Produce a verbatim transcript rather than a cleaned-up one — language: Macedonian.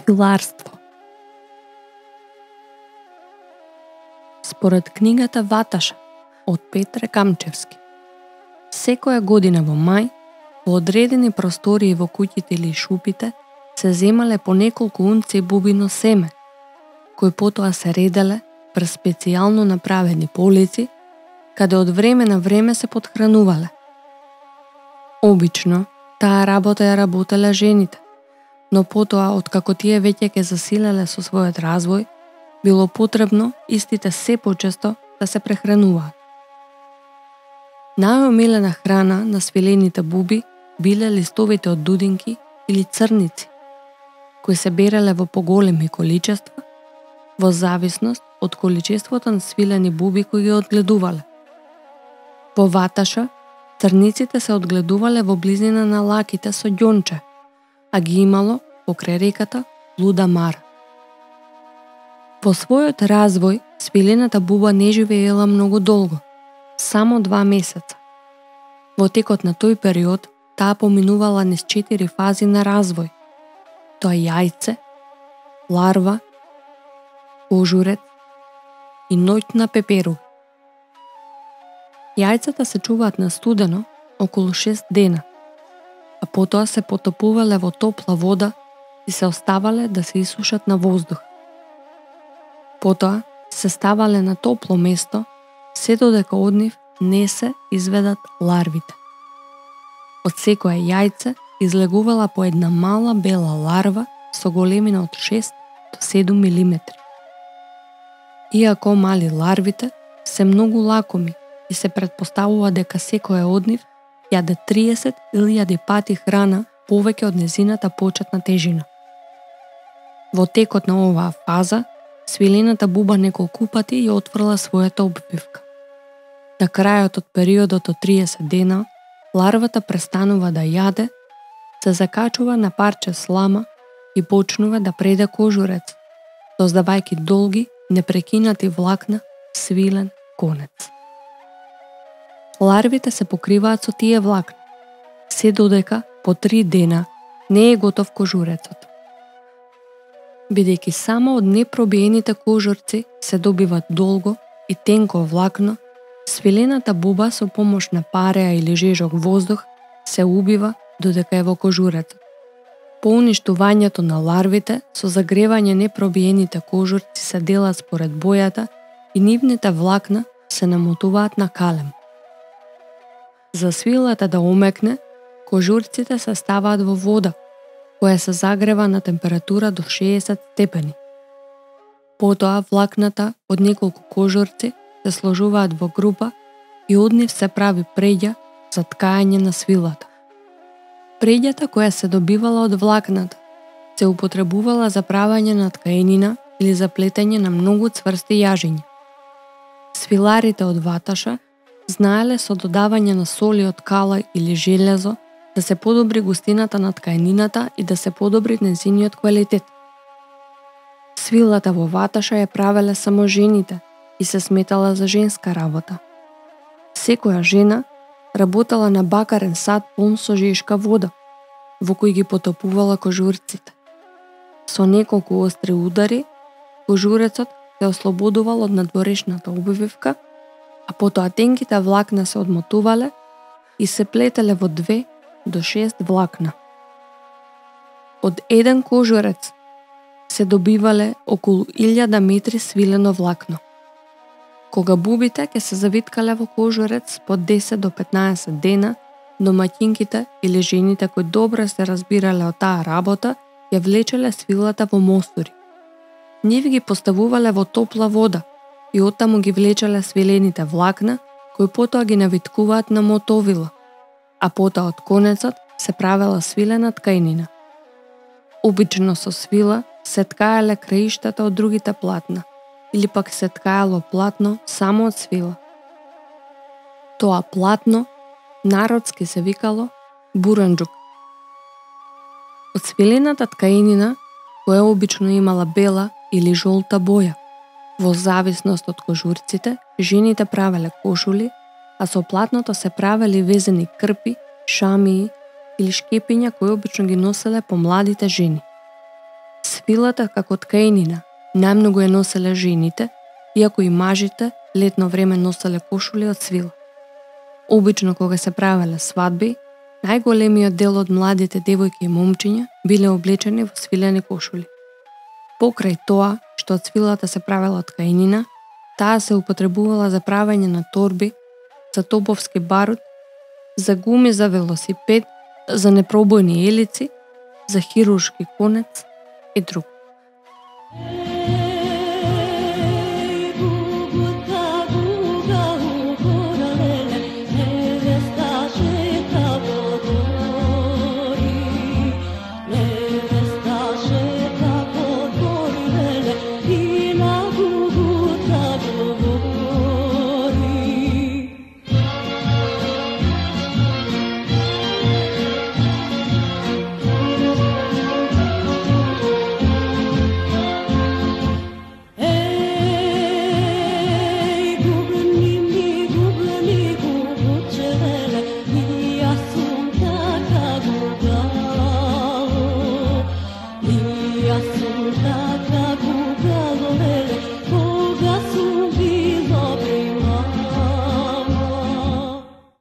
Свиларство. Според книгата Ваташа од Петре Камчевски, секоја година во мај, во одредени простории во куќите или шупите, се земале по неколку унци бубино семе, кои потоа се ределе през специјално направени полици, каде од време на време се подхранувале. Обично, таа работа ја работеле жените, но потоа, откако тие веќе ке засилеле со својот развој, било потребно истите се почесто да се прехрануваат. Најомилена храна на свилените буби биле листовите од дудинки или црници, кои се береле во поголеми количества, во зависност од количеството на свилени буби кои ги одгледувале. Во Ваташа, црниците се одгледувале во близина на лаките со ѓонче, а ги имало покрај реката Луда Мара. Во својот развој, свилената буба не живеела многу долго, само два месеца. Во текот на тој период, таа поминувала низ четири фази на развој. Тоа јајце, ларва, кожурец и ноќна пеперуга. Јајцата се чуваат на студено околу шест дена, а потоа се потопувале во топла вода и се оставале да се исушат на воздух. Потоа се ставале на топло место, се додека од нив не се изведат ларвите. Од секое јајце излегувала по една мала бела ларва со големина од шест до седум милиметри. Иако мали ларвите се многу лакоми и се претпоставува дека секоја од нив јаде триесет илјади пати храна повеќе од незината почетна тежина. Во текот на оваа фаза, свилената буба неколку пати ја отврла својата обвивка. На крајот од периодот од триесет дена, ларвата престанува да јаде, се закачува на парче слама и почнува да преде кожурец, создавајќи долги, непрекинати влакна, свилен конец. Ларвите се покриваат со тие влакна, се додека по три дена не е готов кожурецот. Бидејќи само од непробиените кожурци се добиват долго и тенко влакно, свилената буба со помош на пареа или жежок воздух се убива додека е во кожурецот. По уништувањето на ларвите, со загревање непробиените кожурци се делат според бојата и нивните влакна се намотуваат на калем. За свилата да омекне, кожурците се ставаат во вода, која се загрева на температура до шеесет степени. Потоа влакната од неколку кожурци се сложуваат во група и од нив се прави преѓа за ткање на свилата. Преѓата која се добивала од влакната се употребувала за правење на ткаенина или за плетење на многу цврсти јажиња. Свиларите од Ваташа знаеле со додавање на соли од кала или железо да се подобри густината на ткаенината и да се подобри незиниот квалитет. Свилата во Ваташа ја правеле само жените и се сметала за женска работа. Секоја жена работела на бакарен сад пун со жешка вода, во кој ги потопувала кожурците. Со неколку остри удари, кожурецот се ослободувал од надворешната обвивка, а потоа тенките влакна се одмотувале и се плетеле во две до шест влакна. Од еден кожурец се добивале околу илјада метри свилено влакно. Кога бубите ќе се завиткале во кожурец по десет до петнаесет дена, домаќинките или жените кои добро се разбирале од таа работа, ја влечеле свилата во мостури. Нив ги поставувале во топла вода и оттаму ги влечеле свилените влакна, кои потоа ги навиткуваат на мотовила, а потоа од конецот се правела свилена ткаенина. Обично со свила се ткаеле краиштата од другите платна, или пак се ткаело платно само од свила. Тоа платно народски се викало буранџук. Од свилената ткаенина, која обично имала бела или жолта боја, во зависност од кожурците, жените правеле кошули, а со платното се правели везени крпи, шамии или шкепиња кои обично ги носеле помладите жени. Цвилата како ткаенина најмногу ја носеле жените, иако и мажите летно време носеле кошули од цвила. Обично кога се правеле свадби, најголемиот дел од младите девојки и момчиња биле облечени во свилени кошули. Покрај тоа што од цвилата се правела ткаенина, таа се употребувала за правење на торби, за топовски барут, за гуми за велосипед, за непробојни елици, за хируршки конец и друго. Assunta